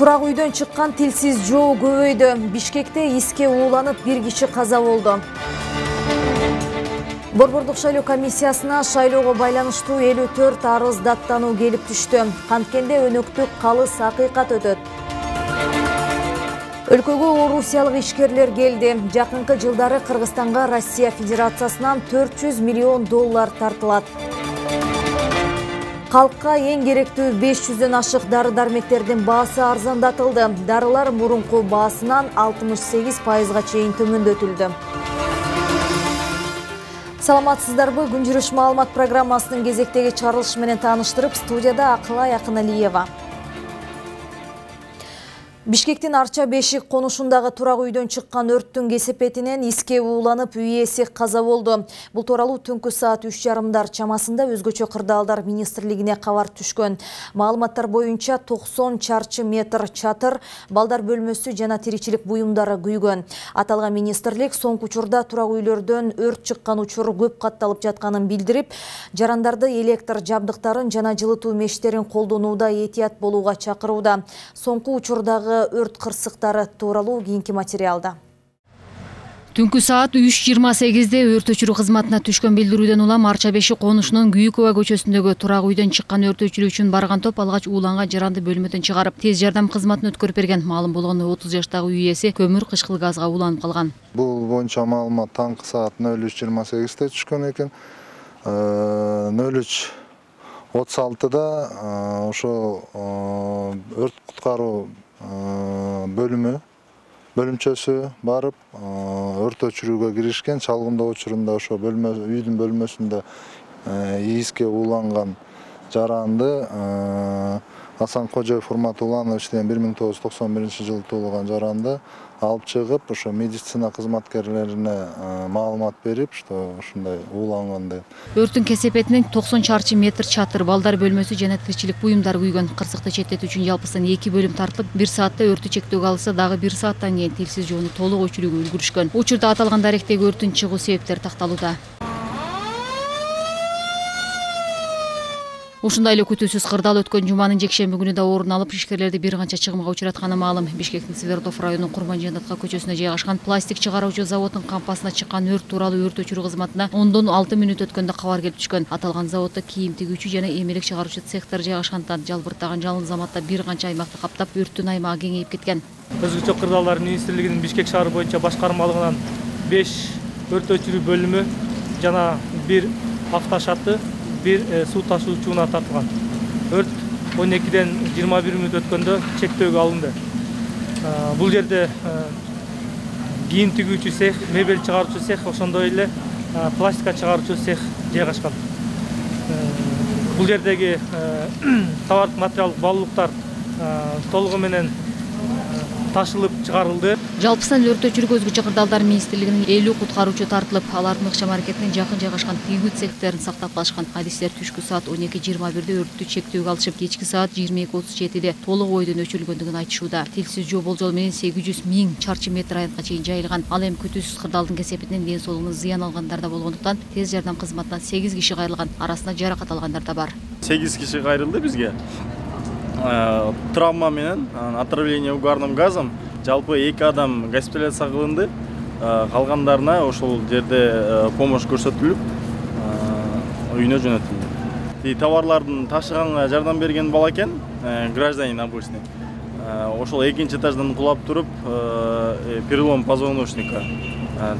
Турак үйдөн чыккан тилсиз жоо көбөйдү. Бишкекте иске ууланып бир киши каза болду. Борбордук шайлоо комиссиясына шайлоого байланыштуу 54 арыз даттануу келип түштү. Канткенде өнөктүк калыс акыйкат өтөт. Өлкөгө орусиялык ишкерлер келди. Жакынкы жылдары Кыргызстанга Россия Федерациясынан 400 миллион доллар тартылат. Калкка эң керектүү 500дөн ашык дары-дармектердин баасы арзандатылды. Дарылар мурунку баасынан 68%га чейин төмөндөтүлдү. Саламатсыздарбы? Күн жүрүш маалымат программасынын кезектеги чыгарылышы менен тааныштырып, студияда Акылай Акыналиева. Бишкектин Арча Бешик конушундагы турак үйдөн чыккан өрттүн кесепетинен иске ууланып үй ээси каза болду. Бул тууралуу түнкү саат 3:30 чамасында Өзгөчө кырдаалдар министрлигине кабар түшкөн. Маалыматтар боюнча 90 чарчы метр чатыр, балдар бөлмөсү жана тиричилик буюмдары күйгөн. Аталган министрлик соңку учурда турак үйлөрдөн өрт чыккан учур көп катталып жатканын билдирип, жарандарды электр жабдыктарын жана жылытуу мештерин колдонууда этият болууга чакырууда. Соңку учурдагы өрт кырсыктары тууралуу кийинки материалда. Түнкү саат 3:28 өрт өчүрүү кызматына түшкөн билдирүүдөн улам Арча Бешик конушунун Күйүкова көчөсүндөгү турак үйдөн чыккан өрт өчүрүү үчүн барган топ алгач ууланган жаранды бөлмөдөн чыгарып, тез жардам кызматына өткөрүп берген. Маалым болгону 30 жаштагы үй ээси көмүр кычкыл газга ууланып калган. Бул боюнча маалымат таңкы саат 03:28 түшкөн экен. 03:36 ошо өрт куткаруу бөлүмчөсү барып өрт өчүрүүгө киришкен. Чалгындоо учурунда ошо үйдүн бөлмөсүндө иске ууланган жаранды Асан Кожоев Урмат Уланович деген 1991-жылы туулган жаранды алып чыгып, ошо медицина кызматкерлерине маалымат берип, что ушундай ууланган деп. Өрттүн кесепетинен 90 чарчы метр чатыр, балдар бөлмөсү жана тиричилик буюмдар күйгөн. Кырсыкты четтетүү үчүн жалпысынан 2 бөлүм тартылып, 1 саатта өрттү чектөөгө алса, дагы 1 сааттан кийин тилсиз жоону толук өчүрүүгө үлгүрүшкөн. Учурда аталган даректеги өрттүн чыгуу себептери такталууда. Ушундай эле күтүүсүз кырдаал өткөн жуманын жекшемби күнү да орун алып, ишкерлерди бир канча чыгымга учуратканы маалым. Бишкектин Свердлов районунун Курманжандатка көчөсүнө жайгашкан пластик чыгаруучу заводдун кампасына чыккан өрт тууралуу өрт өчүрүү кызматына 10-6 мүнөт өткөндө кабар келип түшкөн. Аталган заводдо кийим тигүүчү жана эмелек чыгаруучу цехтер жайгашкандыктан жалбырттаган жалын заматта бир канча аймакты каптап, өрттүн аймагы кеңейип кеткен. Өзгөчө кырдаалдар министрлигинин Бишкек шаары боюнча башкармалыгынан 5 өрт өчүрүү бөлүмү жана 1 автошаты, 1 суу ташуучуна тартылган. Өрт 12-ден 21 мүнөт өткөндө чектөөгө алынды. Бул жерде кийим тигүүчү цех, мебель чыгаруучу цех, ошондой эле пластика чыгаруучу цех жайгашкан. Бул жердеги товардык материалдык баалуулуктар толугу менен ташылып чыгарылды. Жалпысынан өрт өчүрүүгө Өзгөчө кырдаалдар министрлигинин 50 куткаруучу тартылып, алардын ыкчам аракетинен жакын жайгашкан тигүү цехтерин сактап калышкан. Адистер түшкү саат 12:21 өрттү чектөөгө алышып, кечки саат 22:37 толук ойдон өчүрүлгөндүгүн айтышууда. Тилсиз жоо болжол менен 800 000 чарчы метр аянтка чейин жайылган. Ал эми күтүүсүз кырдаалдын кесепетинен ден соолугуна зыян алгандар да болгондуктан тез жардам кызматынан 8 киши кайрылган, арасында жаракат алгандар да бар. 8 киши кайрылды бизге. Травма менен отравление угарным газом. Жалпы 2 адам госпитализация кылынды. Калгандарына ошол жерде помощь көрсөтүлүп, үйүнө жөнөтүлдү. Товарлардын ташыганга жардам берген бала экен, гражданин обычный. Ошол 2-нчи этаждан кулап туруп, перелом позвоночника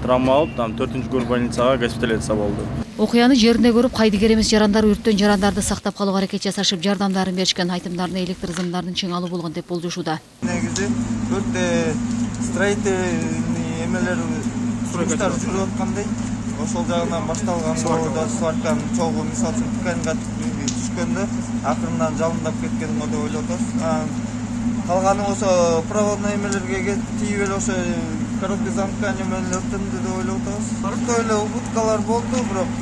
травма алып, 4-көр больницага госпитализация болду. Окуяны жеринде көрүп, кайдыгер эмес жарандар өрттөн жарандарды сактап калууга аракет жасашып, жардамдарын беришкен. Айтымдарына электр зымдардын чыңалуу болгон деп болжошууда. Негизи өрттө строительный эмелер сурактар жүрүп аткандай, ошол жагынан башталган болду. Сварканын чогуу мисалы үчүн тканьга түшкөндө акырындан жалындап кеткен го деп ойлоп атабыз. Калганы болсо проводной эмелерге тиіп эле ошо короткий замкание менен өрттөндү деп ойлоп атабыз. Өрттө эле убуткалар болду, бирок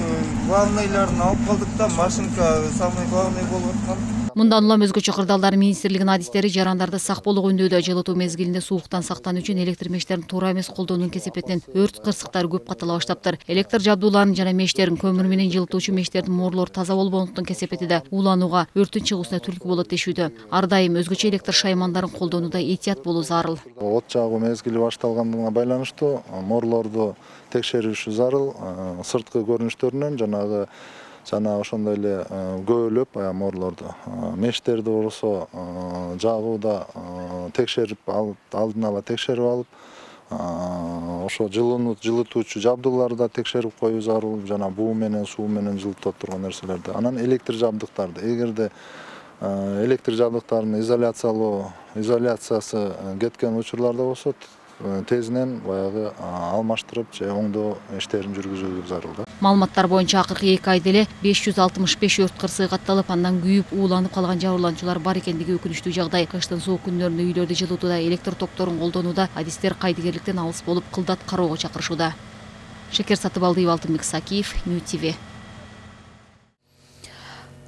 главныйларын алып калдык да, машинка самый главный болуп аткан. Мындан улам өзгөчө кырдаалдар министрлигинин адистери жарандарды сак болуу жөнүндө жылытуу мезгилинде сууктан сактануу үчүн электр мештерин туура эмес колдоонун кесепетинен өрт кырсыктары көп катала баштаптыр. Электр жабдууларын жана мештерин көмүр менен жылытуучу мештердин mooрлору таза болбогондуктан кесепетиде ууланууга, өрттүн чыгуусуна түрткү болот дешүүдө. Ар дайым өзгөчө электр шаймандарын колдонууда этият болуу зарыл. От жагуу мезгили башталгандыгына байланыштуу mooрлорду текшериши зарыл. Сырткы көрүнүштөрүнөн жана ошондой эле көбөлөп mooрлорду, мештерди болсо жагууда текшерип алдын ала текшерип алып, ошо жылытуучу жабдууларды да текшерип коюу зарыл, жана буу менен суу менен жылытып турган нерселерди. Анан электр жабдыктарды, эгерде электр жабдыктарынын изоляциясы кеткен учурларда болсо, тезинен баягы алмаштырып же оңдоо иштерин жүргүзүү зарыл да. Маалыматтар боюнча акыркы 2 айда эле 565 өрт кырсыгы катталып, андан күйүп ууланып калган жабырлануучулар бар экендиги өкүнүчтүү жагдай. Кыштын суук күндөрүндө үйлөрдү жылытууда, электр токторун колдонууда адистер кайдыгерликтен алыс болуп, кылдат кароого чакырышууда. Шекер Сатыбалдиев, Алтынбек Сакиев, Нью ТВ.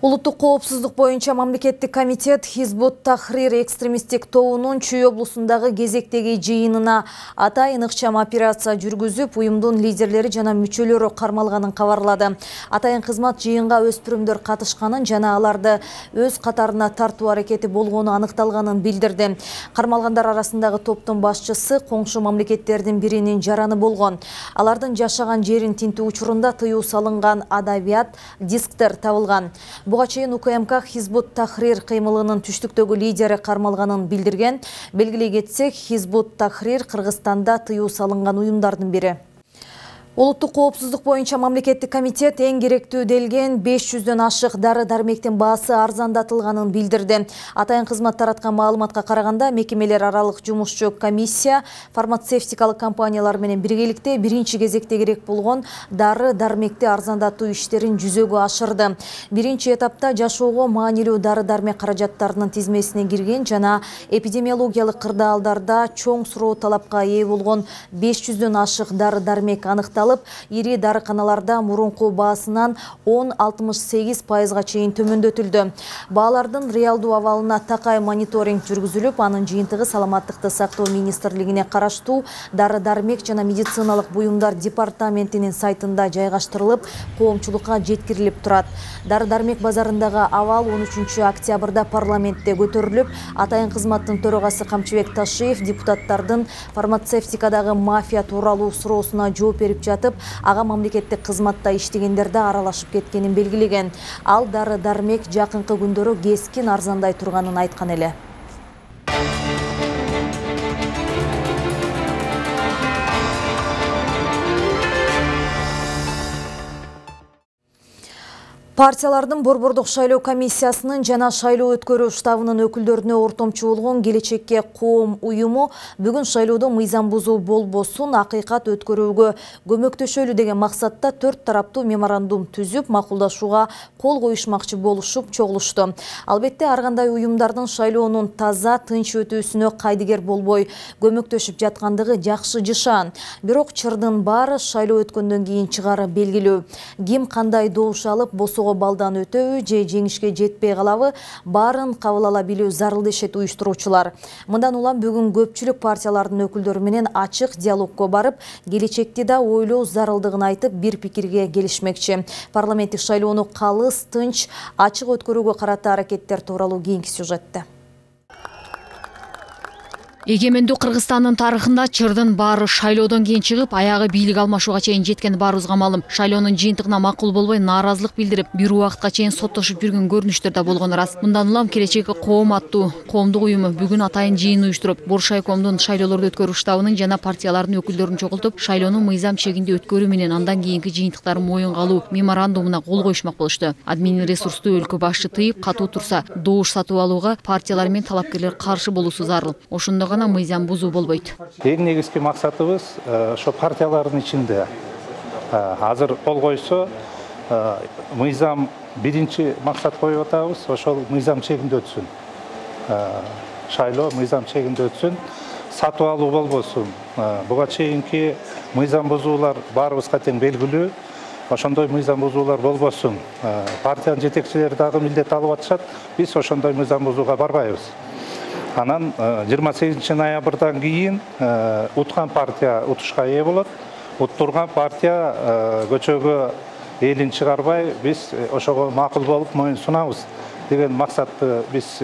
Улуттук коопсуздук боюнча мамлекеттик комитет Хизбут Тахрир экстремисттик тобунун Чүй облусундагы кезектеги жыйынына атайын ыкчам операция жүргүзүп, уюмдун лидерлери жана мүчөлөрү кармалганын кабарлады. Атайын кызмат жыйынга өспүрүмдөр катышканын жана аларды өз катарына тартуу аракети болгону аныкталганын билдирди. Кармалгандар арасындагы топтун башчысы коңшу мамлекеттердин биринин жараны болгон. Алардын жашаган жерин тинтүү учурунда тыюу салынган адабият дисктер табылган. Буга чейин УКМК Хизбут Тахрир кыймылынын түштүктөгү лидери кармалганын билдирген. Белгилей кетсек, Хизбут Тахрир Кыргызстанда тыюу салынган уюмдардын бири. Улуттук коопсуздук боюнча мамлекеттик комитет эң керектүү делген 500дөн ашык дары-дармектин баасы арзандатылганын билдирди. Атайын кызмат тараткан маалыматка караганда, мекемелер аралык жумушчу комиссия фармацевтикалык компаниялар менен биргеликте биринчи кезекте керек болгон дары-дармекти арзандатуу иштерин жүзөгө ашырды. Биринчи этапта жашоого маанилүү дары-дармек каражаттарынын тизмесине кирген жана эпидемиологиялык кырдаалдарда чоң суроо талапка ээ болгон 500дөн ашык дары-дармек аныкталып, ири дарыканаларда мурунку баасынан 10-68% чейин төмөндөтүлдү. Баалардын реалдуу абалына такай мониторинг жүргүзүлүп, анын жыйынтыгы саламаттыкты сактоо министрлигине караштуу дары-дармек жана медициналык буюмдар департаментинин сайтында жайгаштырылып, коомчулукка жеткирилип турат. Дары-дармек базарындагы абал 13 октябрда парламентте көтөрүлүп, атайын кызматтын төрагасы Камчыбек Ташиев депутаттардын фармацевтикадагы мафия тууралуу суроосуна жооп берип жатып, ага мамлекеттик кызматта иштегендерде аралашып кеткенин белгилеген. Ал дары-дармек жакынкы күндөрү кескин арзандай турганын айткан эле. Партиялардын борбордук шайлоо комиссиясынын жана шайлоо өткөрүү штабынын өкүлдөрүнө ортомчу болгон Келечекке коом уюму бүгүн шайлоодо мыйзам бузуу болбосун акыйкат өткөрүүгө көмөктөшөлү деген максатта 4 тараптуу меморандум түзүп, макулдашууга кол коюшмакчы болушуп чогулушту. Албетте, ар кандай уюмдардын шайлоонун таза, тынч өтүүсүнө кайдыгер болбой көмөктөшүп жаткандыгы жакшы жышаан. Бирок чырдын баары шайлоо өткөндөн кийин чыгары белгилүү. Ким кандай добуш алып, босого балдан өтөбү же жеңишке жетпей калабы, баарын кабыл ала билүү зарыл дешет уюштуруучулар. Мындан улам бүгүн көпчүлүк партиялардын өкүлдөрү менен ачык диалогко барып, келечекти да ойлоо зарылдыгын айтып, бир пикирге келишмекчи. Парламенттик шайлоону калыс, тынч, ачык өткөрүүгө карата аракеттер тууралуу кийинки сюжетте. Эгемендүү Кыргызстандын тарыхында чырдын баары шайлоодон кийин чыгып, аягы бийлик алмашууга чейин жеткен баарыбызга маалым. Шайлоонун жыйынтыгына макул болбой нааразылык билдирип, бир убакытка чейин соттошуп жүргөн көрүнүштөр да болгону рас. Мындан улам Келечекке коом аттуу коомдук уюму бүгүн атайын жыйын уюштуруп, Боршайкомдун шайлоолорду өткөрүү штабынын жана партиялардын өкүлдөрүн чогултуп, шайлоону мыйзам чегинде өткөрүү менен андан кийинки жыйынтыктарын моюнга алуу меморандумуна кол коюшмак болушту. Админ ресурсту өлкө башчы тыйып, катуу турса, добуш сатып алууга партиялар менен талапкерлер каршы болуусу зарыл. Ошондо гана мыйзам бузуу болбойт. Эң негизги максатыбыз ошо партиялардын ичинде азыр кол койсо, мыйзам биринчи максат коюп атабыз, ошол мыйзам чегинде өтсүн. Шайлоо мыйзам чегинде өтсүн. сатып алуу болбосун. Буга чейинки мыйзам бузуулар баарыбызга тең белгилүү. Ошондой мыйзам бузуулар болбосун. Партиянын жетекчилери дагы милдет алып атышат. Биз ошондой мыйзам бузууга барбайбыз. Анан 28 ноябрдан кийин уткан партия утушка ээ болот. Уттурган партия көчөгө элин чыгарбай, биз ошого макул болуп моюн сунабыз деген максатты биз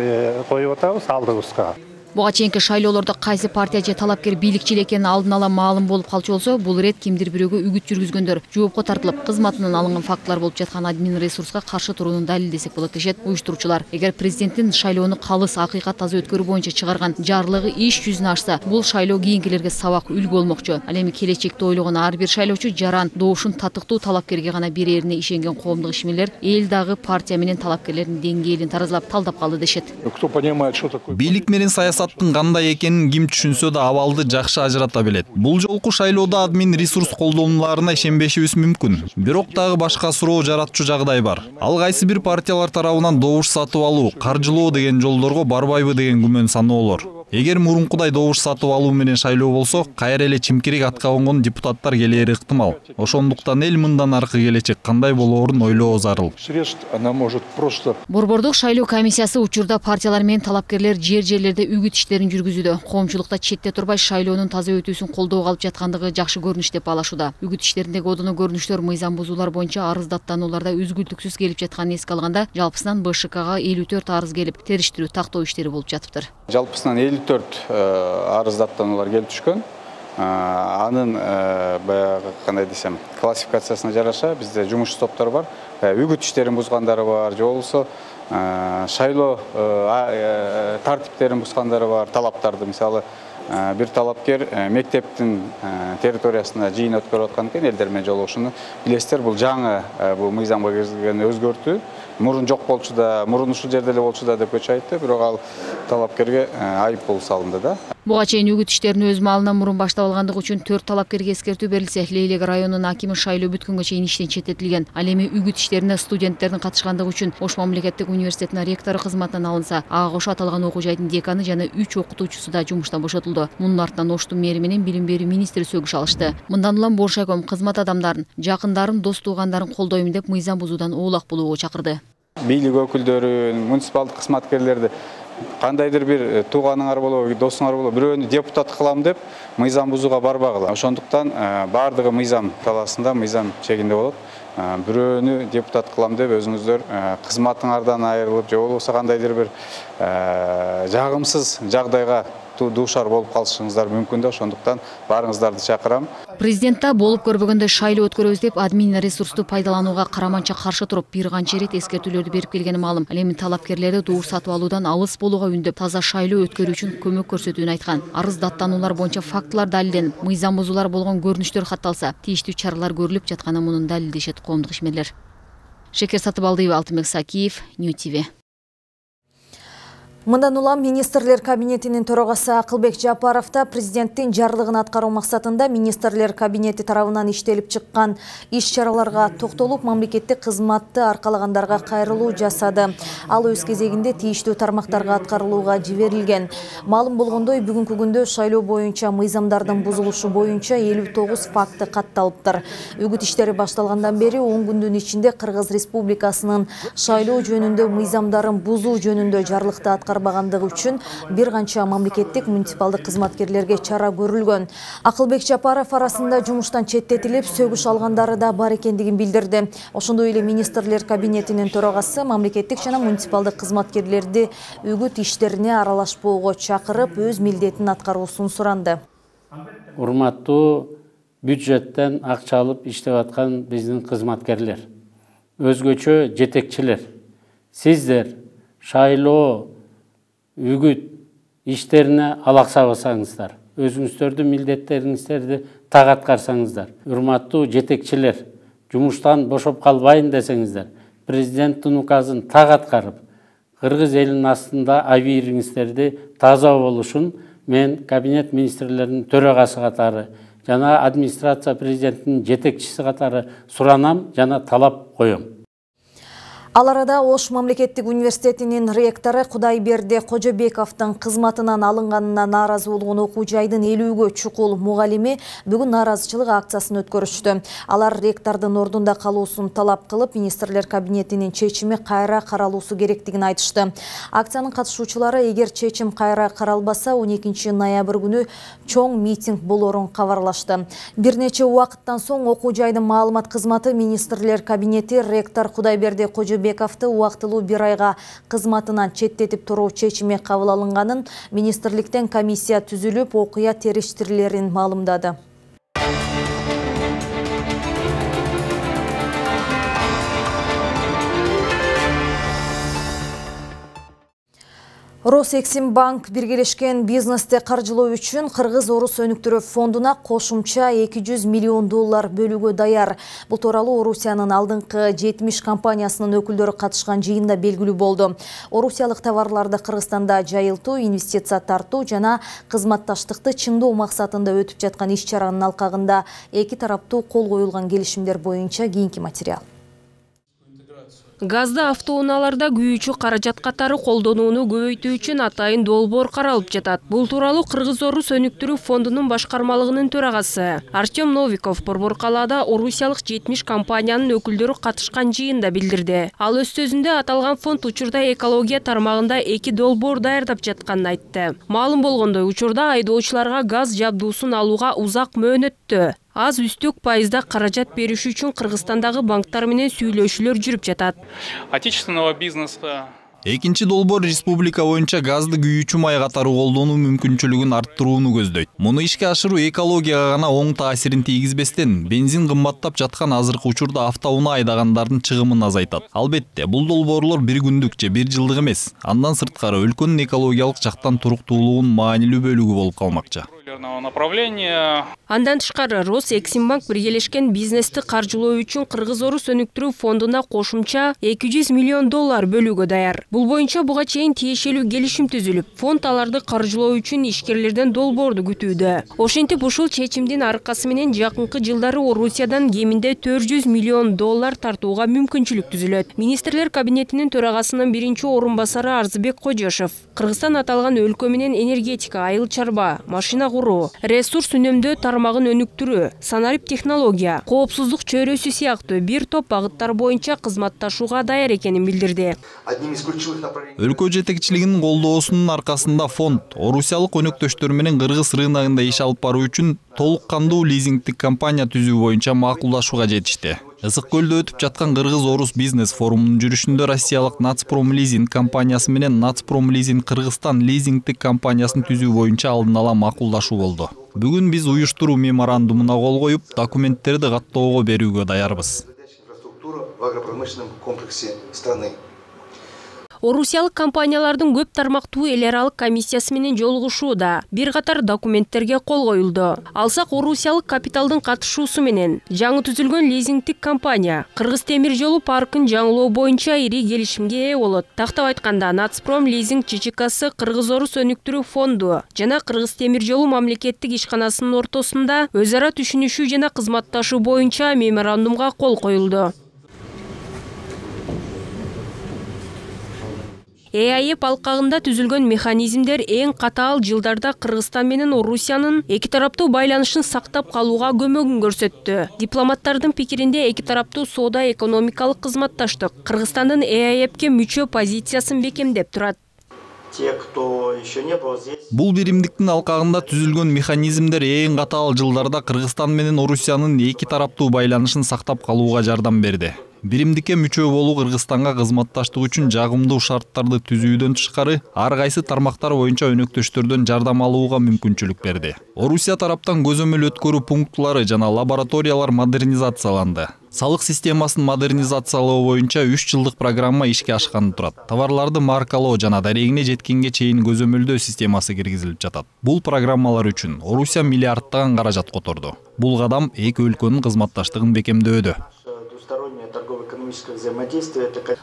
коюп атабыз алдыбызга. Буга чейинки шайлоолордо кайсы партия же талапкер бийликчил экени алдын ала маалым болуп калчу болсо, бул ирет кимдир бирөөгө үгүт жүргүзгөндөр жоопко тартылып, кызматынан алынган фактылар болуп жаткан админ ресурска каршы турууну далилдесек болот дешет уюштуруучулар. Эгер президенттин шайлоону калыс, акыйкат таза өткөрүү боюнча чыгарган жарлыгы иш жүзүнө ашса, бул шайлоо кийинкилерге сабак үлгү болмокчу. Ал эми келечекти ойлогон ар бир шайлоочу жаран добушун татыктуу талапкерге гана берерине ишенген коомдук ишмерлер эл дагы партия менен талапкерлердин деңгээлин таразалап талдап калды дешет. Бийлик менен саясаттын кандай экенин ким түшүнсө да абалды жакшы ажырата билет. Бул жолку шайлоодо админ ресурс колдонууларына ишенбешибиз мүмкүн. Бирок дагы башка суроо жаратчу жагдай бар. Ал кайсы бир партиялар тарабынан добуш сатып алуу, каржылоо деген жолдорго барбайбы деген күмөн саноолор. Эгер мурункудай добуш сатып алуу менен шайлоо болсо, кайра эле чимкирик атка конгон депутаттар келери ыктымал. Ошондуктан эл мындан аркы келечек кандай болоорун ойлоо зарыл. Борбордук шайлоо комиссиясы учурда партиялар менен талапкерлер жерлерде үгүт иштерин жүргүзүүдө. Коомчулукта четте турбай шайлоонун таза өтүүсүн колдоого алып жаткандыгы жакшы көрүнүш деп баалашууда. Үгүт иштериндеги одоно көрүнүштөр мыйзам бузуулар боюнча арыздаттанууларда үзгүлтүксүз келип жатканын эске алганда, жалпысынан БШКга 54 арыз келип, териштирүү тактоо иштери болуп жатыптыр. Жалпысынан 54 арыздаттануулар келип түшкөн. Анын баягы кандай десем, классификациясына жараша бизде жумуш топтор бар. Үгүт иштерин бузгандары бар, же болбосо шайлоо тартиптерин бузгандары бар, талаптарды. Мисалы, бир талапкер мектептин территориясында жыйын өткөрүп аткан экен, элдер менен жолугушууну билесиздер, бул жаңы бул мыйзамга киргизилген өзгөртүү. Мурун жок болчу да, мурун ушул жерде эле болчу да деп көчүп айтты, бирок ал талапкерге айыппул салынды да. Буга чейин үгүт иштерин өз маалынан мурун баштап алгандыгы үчүн 4 талапкерге эскертүү берилсе, Лейлек районунун акими шайлоо бүткөнгө чейин иштен четтетилген. Ал эми үгүт иштерине студенттердин катышкандыгы үчүн Ош мамлекеттик университетинин ректору кызматынан алынса, ага кошо аталган окуу жайдын деканы жана 3 окутуучусу да жумуштан бошотулду. Мунун артынан Оштун мэри менен билим берүү министри сөгүш алышты. Мындан улам Боршайком кызмат адамдарын, жакындарын, дос туугандарын колдойм деп мыйзам бузуудан оолак болууга чакырды. Бийлик өкүлдөрүн, муниципалдык кызматкерлерди кандайдыр бир тууганыңар болобу, досуңар болобу, бирөөнү депутат кылам деп мыйзам бузууга барбагыла. Ошондуктан бардыгы мыйзам талаасында, мыйзам чегинде болот. Бирөөнү депутат кылам деп өзүңүздөр кызматыңардан айрылып, же болбосо кандайдыр бир жагымсыз жагдайга дуушар болуп калышыңыздар мүмкүн да, ошондуктан баарыңыздарды чакырам. Президент да болуп көрбөгөндө шайлоо өткөрөбүз деп админ ресурсту пайдаланууга караманча каршы туруп, бир канча ирет эскертүүлөрдү берип келгени маалым. Ал эми талапкерлерди добуш сатып алуудан алыс болууга үндөп, таза шайлоо өткөрүү үчүн көмөк көрсөтүүнү айткан. Арыздаттануулар боюнча фактылар далилденип, мыйзам бузуулар болгон көрүнүштөр катталса, тийиштүү чаралар көрүлүп жатканы мунун далилдешет коомдук ишмерлер. Шекер Сатыбалдиева, Алтынбек Сакиев, New TV. Мындан улам министрлер кабинетинин төрагасы Акылбек Жапаров да президенттин жарлыгын аткаруу максатында министрлер кабинети тарабынан иштелип чыккан иш-чараларга токтолуп, мамлекеттик кызматты аркалагандарга кайрылуу жасады. Ал өз кезегинде тийиштүү тармактарга аткарылууга жиберилген. Маалым болгондой, бүгүнкү күндө шайлоо боюнча мыйзамдардын бузулушу боюнча 59 факты катталыптыр. Үгүт иштери башталгандан бери 10 күндүн ичинде Кыргыз Республикасынын шайлоо жөнүндө мыйзамдарын бузуу жөнүндө жарлыкты аткарбагандыгы үчүн бир канча мамлекеттик муниципалдык кызматкерлерге чара көрүлгөн. Акылбек Жапаров арасында жумуштан четтетилип, сөгүш алгандары да бар экендигин билдирди. Ошондой эле министрлер кабинетинин төрагасы мамлекеттик жана муниципалдык кызматкерлерди үгүт иштерине аралашпоого чакырып, өз милдетин аткаруусун суранды. Урматтуу бюджеттен акча алып иштеп аткан биздин кызматкерлер, өзгөчө жетекчилер, сиздер шайлоо үгүт иштерине алаксабасаңыздар, өзүңүздөрдүн милдеттериңиздерди так аткарсаңыздар, урматтуу жетекчилер, жумуштан бошоп калбайын десеңиздер, президенттин указын так аткарып, Кыргыз элинин астында абийириңиздерди таза болушун мен кабинет министрлеринин төрагасы катары жана администрация президенттин жетекчиси катары суранам жана талап коем. Ал арада Ош мамлекеттик университетинин ректору Кудайберди Кожобековдун кызматынан алынганына нааразы болгон окуу жайдын 50-гө чукул мугалими бүгүн нааразычылык акциясын өткөрүштү. Алар ректордун ордунда калуусун талап кылып, министрлер кабинетинин чечими кайра каралуусу керектигин айтышты. Акциянын катышуучулары эгер чечим кайра каралбаса 12 ноябрь күнү чоң митинг болорун кабарлашты. Бир нече убакыттан соң окуу жайдын маалымат кызматы министрлер кабинети ректор Кудайберди Кожобековду убактылуу 1 айга кызматынан четтетип туруу чечими кабыл алынганын, министрликтен комиссия түзүлүп, окуя териштирилерин маалымдады. Росэксимбанк биргелешкен бизнести каржылоо үчүн Кыргыз-Орус өнүктүрүү фондуна кошумча $200 миллион бөлүүгө даяр. Бул тууралуу Орусиянын алдыңкы 70 компаниясынын өкүлдөрү катышкан жыйында белгилүү болду. Орусиялык товарларды Кыргызстанда жайылтуу, инвестиция тартуу жана кызматташтыкты чыңдоо максатында өтүп жаткан иш-чаранын алкагында эки тараптуу кол коюлган келишимдер боюнча кийинки материал. Газды автоунааларда күйүүчү каражат катары колдонууну көбөйтүү үчүн атайын долбоор каралып жатат. Бул тууралуу Кыргыз-Орус өнүктүрүү фондунун башкармалыгынын төрагасы Артем Новиков Борбор калаада орусиялык 70 компаниянын өкүлдөрү катышкан жыйында билдирди. Ал өз сөзүндө аталган фонд учурда экология тармагында 2 долбоор даярдап жатканын айтты. Маалым болгондой, учурда айдоочуларга газ жабдуусун алууга узак мөөнөттө аз үстүк пайызда каражат бериш үчүн Кыргызстандагы банктар менен сүйлөшүүлөр жүрүп жатат. Отечественного бизнеса. Экинчи долбоор республика боюнча газды күйүүчү май катары колдонуу мүмкүнчүлүгүн арттырууну көздөйт. Муну ишке ашыруу экологияга гана оң таасирин тийгизбестен, бензин кымбаттап жаткан азыркы учурда автоунаа айдагандардын чыгымын азайтат. Албетте, бул долбоорлор бир күндүк же бир жылдык эмес. Андан сырткары өлкөнүн экологиялык жактан туруктуулугунун маанилүү бөлүгү болуп калмакчы. Андан тышкары Росэксимбанк биргелешкен бизнести каржылоо үчүн Кыргыз-Орус өнүктүрүү фондуна кошумча $200 миллион бөлүүгө даяр. Бул боюнча буга чейин тиешелүү келишим түзүлүп, фонд аларды каржылоо үчүн ишкерлерден долбоорду күтүүдө. Ошентип ушул чечимдин аркасы менен жакынкы жылдары Орусиядан кеминде $400 миллион тартууга мүмкүнчүлүк түзүлөт. Министрлер кабинетинин төрагасынын биринчи орун басары Арзыбек Кожошов Кыргызстан аталган өлкө менен энергетика, айыл чарба, машина куруу, ресурс үнөмдөө тармагын өнүктүрүү, санарип технология, коопсуздук чөйрөсү сыяктуу бир топ багыттар боюнча кызматташууга даяр экенин билдирди. Өлкө жетекчилигинин колдоосунун аркасында фонд орусиялык өнөктөштөр менен Кыргыз рыногунда иш алып баруу үчүн толук кандуу лизингдик компания түзүү боюнча макулдашууга жетишти. Ысык көлдө өтүп жаткан Кыргыз-Орус бизнес форумунун жүрүшүндө россиялык Нацпром лизинг компаниясы менен Нацпром лизинг Кыргызстан лизингдик компаниясын түзүү боюнча алдын ала макулдашуу болду. Бүгүн биз уюштуруу меморандумуна кол коюп, документтерди каттоого берүүгө даярбыз. Орусиялык компаниялардын көп тармактуу эл аралык комиссиясы менен жолугушууда бир катар документтерге кол коюлду. Алсак орусиялык капиталдын катышуусу менен жаңы түзүлгөн лизингдик компания Кыргыз темир жолу паркын жаңылоо боюнча ири келишимге ээ болот. Тактап айтканда, Нацпром лизинг ЧЧКсы Кыргыз-Орус өнүктүрүү фонду жана Кыргыз темир жолу мамлекеттик ишканасынын ортосунда өз ара түшүнүшүү жана кызматташуу боюнча меморандумга кол коюлду. ЭАЭП алкагында түзүлгөн механизмдер эң катаал жылдарда Кыргызстан менен Орусиянын эки тараптуу байланышын сактап калууга көмөгүн көрсөттү. Дипломаттардын пикиринде эки тараптуу соода экономикалык кызматташтык Кыргызстандын ЭАЭПке мүчө позициясын бекемдеп турат. Бул биримдиктин алкагында түзүлгөн механизмдер эң катаал жылдарда Кыргызстан менен Орусиянын эки тараптуу байланышын сактап калууга жардам берди. Биримдикке мүчө болуу Кыргызстанга кызматташтык үчүн жагымдуу шарттарды түзүүдөн тышкары ар кайсы тармактар боюнча өнөктөштөрдөн жардам алууга мүмкүнчүлүк берди. Орусия тараптан көзөмөл өткөрүү пунктлары жана лабораториялар модернизацияланды. Салык системасын модернизациялоо боюнча 3 жылдык программа ишке ашканы турат. Товарларды маркалоо жана дарегине жеткенге чейин көзөмөлдөө системасы киргизилип жатат. Бул программалар үчүн Орусия миллиардтаган каражат которду. Бул кадам эки өлкөнүн кызматташтыгын бекемдөөдө.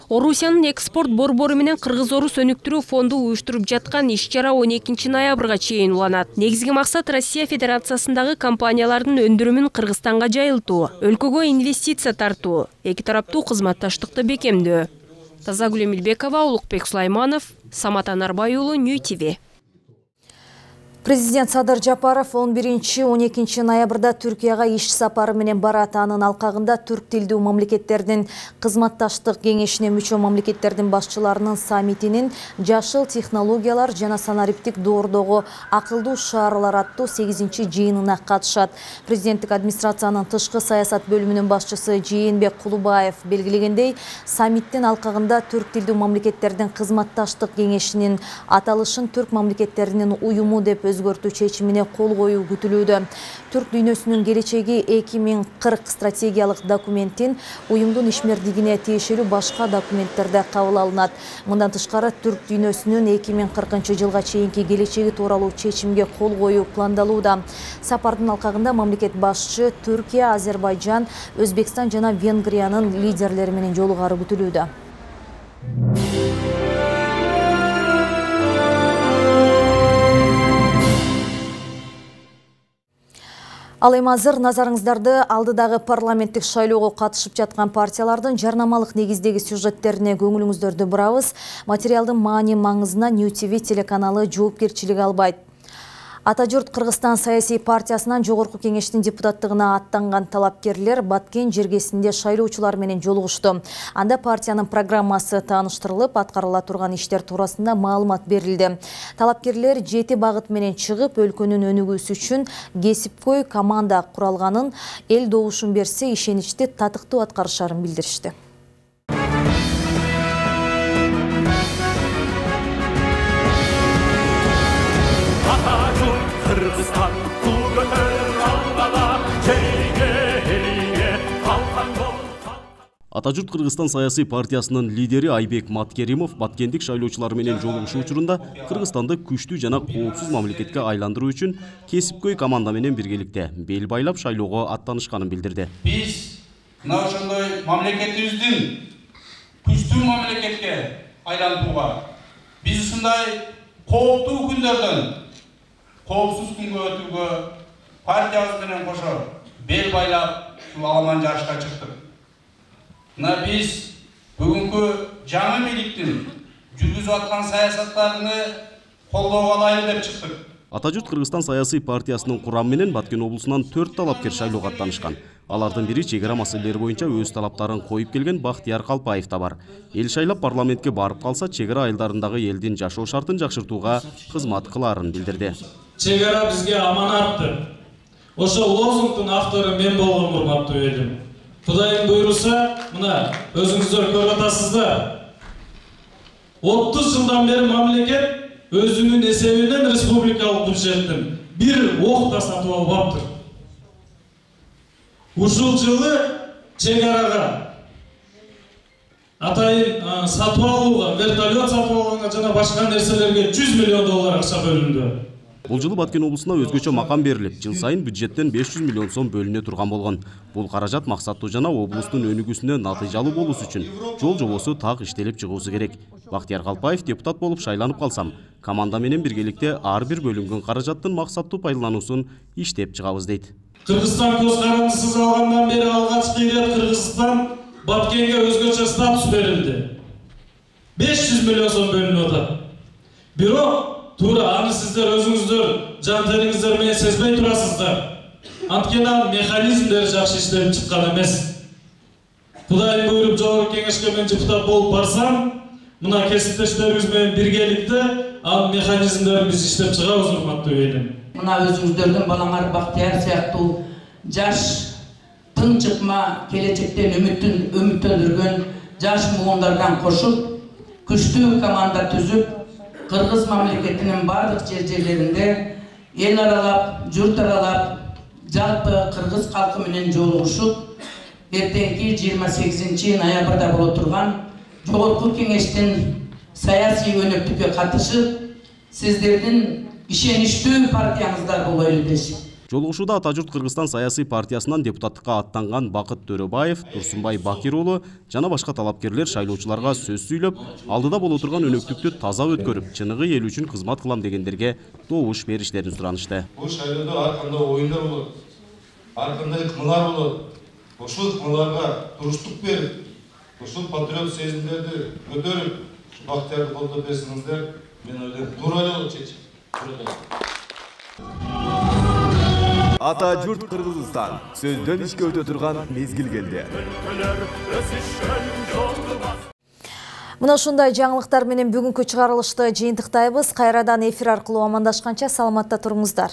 Орусиянын экспорт борбору менен Кыргыз-Орус өнүктүрүү фонду уюштуруп жаткан иш-чара 12 ноябрга чейин уланат. Негизги максат Россия Федерациясындагы компаниялардын өндүрүмүн Кыргызстанга жайылтуу, өлкөгө инвестиция тартуу, эки тараптуу кызматташтыкты бекемдөө. Тазагүл Эмилбекова, Улукбек Сулайманов, Самат Анарбай уулу, Нью ТВ. Президент Садыр Жапаров 11-12 ноябрда Түркияга иш сапары менен барат. Анын алкагында түрк тилдүү мамлекеттердин кызматташтык кеңешине мүчө мамлекеттердин башчыларынын саммитинин жашыл технологиялар жана санариптик доордогу акылдуу шаарлар аттуу 8-чи жыйынына катышат. Президенттик администрациянын тышкы саясат бөлүмүнүн башчысы Жээнбек Кулубаев белгилегендей, саммиттин алкагында түрк тилдүү мамлекеттердин кызматташтык кеңешинин аталышын түрк мамлекеттеринин уюму деп өзгөртүү чечимине кол коюу күтүлүүдө. Түрк дүйнөсүнүн келечеги 2040 стратегиялык документин уюмдун ишмердигине тиешелүү башка документтерде кабыл алынат. Мындан тышкары түрк дүйнөсүнүн 2040 жылга чейинки келечеги тууралуу чечимге кол коюу пландалууда. Сапардын алкагында мамлекет башчы Түркия, Азербайжан, Өзбекстан жана Венгриянын лидерлери менен жолугары күтүлүүдө. Ал эми азыр назарыңыздарды алдыдагы парламенттик шайлоого катышып жаткан партиялардын жарнамалык негиздеги сюжеттерине көңүлүңүздөрдү бурабыз. Материалдын маани маңызына Нью ТВ телеканалы жоопкерчилик албайт. Атажурт Кыргызстан саясий партиясынан жогорку кеңештин депутаттыгына аттанган талапкерлер Баткен жергесинде шайлоочулар менен жолугушту. Анда партиянын программасы тааныштырылып, аткарыла турган иштер туурасында маалымат берилди. Талапкерлер 7 багыт менен чыгып, өлкөнүн өнүгүүсү үчүн кесипкөй команда куралганын, эл добушун берсе ишеничти татыктуу аткарышарын билдиришти. Атажурт Кыргызстан саясий партиясынын лидери Айбек Маткеримов Баткендик шайлоочулар менен жолугушуу учурунда Кыргызстанды күчтүү жана коопсуз мамлекетке айландыруу үчүн кесипкөй команда менен биргеликте бел байлап шайлоого аттанышканын билдирди. Биз мына ошондой мамлекетибиздин күчтүү мамлекетке айлантууга, биз ушундай кооптуу күндөрдөн коопсуз күнгө өтүүгө партиябыз менен кошо бел байлап ушул аламан жарышка чыктык. Мына биз бүгүнкү жаңы бийликтин жүргүзүп аткан саясаттарыны колдоого алайлы деп чыктык. Атажурт Кыргызстан саясий партиясынын курамы менен Баткен облусунан 4 талапкер шайлоого аттанышкан. Алардын бири чек ара маселелери боюнча өз талаптарын коюп келген Бактияр Калпаев да бар. Эл шайлап парламентке барып калса, чек ара айылдарындагы элдин жашоо шартын жакшыртууга кызмат кылаарын билдирди. Чек ара бизге аманаттыр. Ошо лозунгдун автору мен болгон, урматтуу элим. Кудайым буйруса, мына өзүңүздөр көрүп атасыздар. 30 жылдан бери мамлекет өзүнүн эсебинен республикалык бюджеттин бир ок да сатып албаптыр. Ушул жылы чек арага атайын сатып алууга, вертолет сатып алганга жана башка нерселерге 100 миллион доллар акча бөлүндү. Бул жылы Баткен облусуна өзгөчө макам берилип, жыл сайын бюджеттен 500 миллион сом бөлүнө турган болгон. Бул каражат максаттуу жана облустун өнүгүүсүнө натыйжалуу болуусу үчүн жол жобосу так иштелип чыгуусу керек. Бактияр Калпаев депутат болуп шайланып калсам, команда менен биргеликте ар бир бөлүнгөн каражаттын максаттуу пайдалануусун иштеп чыгабыз дейт. Кыргызстан көз карандысыз алгандан бери алгачкы ирет Кыргызстан Баткенге өзгөчө статус берилди. 500 миллион сом бөлүнүп атат. Бирок туура аны сиздер өзүңүздөр жан териңиздер менен сезбей турасыздар. Анткени механизмдери жакшы иштелип чыккан эмес. Кудайым буйруп жогорку кеңешке мен депутат болуп барсам, мына кесиптештерибиз менен биргеликте ал механизмдерин биз иштеп чыгабыз, урматтуу элим. Мына өзүңүздөрдүн балаңар Бактияр сыяктуу жаш тың чыкма келечектен үмүттөндүргөн жаш муундардан кошуп, күчтүү команда түзүп, Кыргыз мамлекетинин бардык жерлеринде эл аралап, журт аралап, жалпы кыргыз калкы менен жолугушуп, эртеңки 28 ноябрда боло турган жогорку кеңештин саясий өнөктүккө катышып, сиздердин ишеничтүү партияңыздар болойлу дешим. Жолугушууда Атажурт Кыргызстан саясий партиясынан депутаттыкка аттанган Бакыт Төрөбаев, Турсунбай Бакир уулу жана башка талапкерлер шайлоочуларга сөз сүйлөп, алдыда боло турган өнөктүктү таза өткөрүп, чыныгы эл үчүн кызмат кылам дегендерге добуш бериштерин суранышты. Бул шайлоодо ар кандай оюндар болот, ар кандай ыкмалар болот. Ошол ыкмаларга туруштук берип, ушул патриот сезимдерди көтөрүп, Бактиярды колдоп берсеңиздер, мен ойлойм, туура эле болот чечим. Ата журт Кыргызстан сөздөн ишке өтө турган мезгил келди. Мына ушундай жаңылыктар менен бүгүнкү чыгарылышты жыйынтыктайбыз. Кайрадан эфир аркылуу амандашканча саламатта туруңуздар.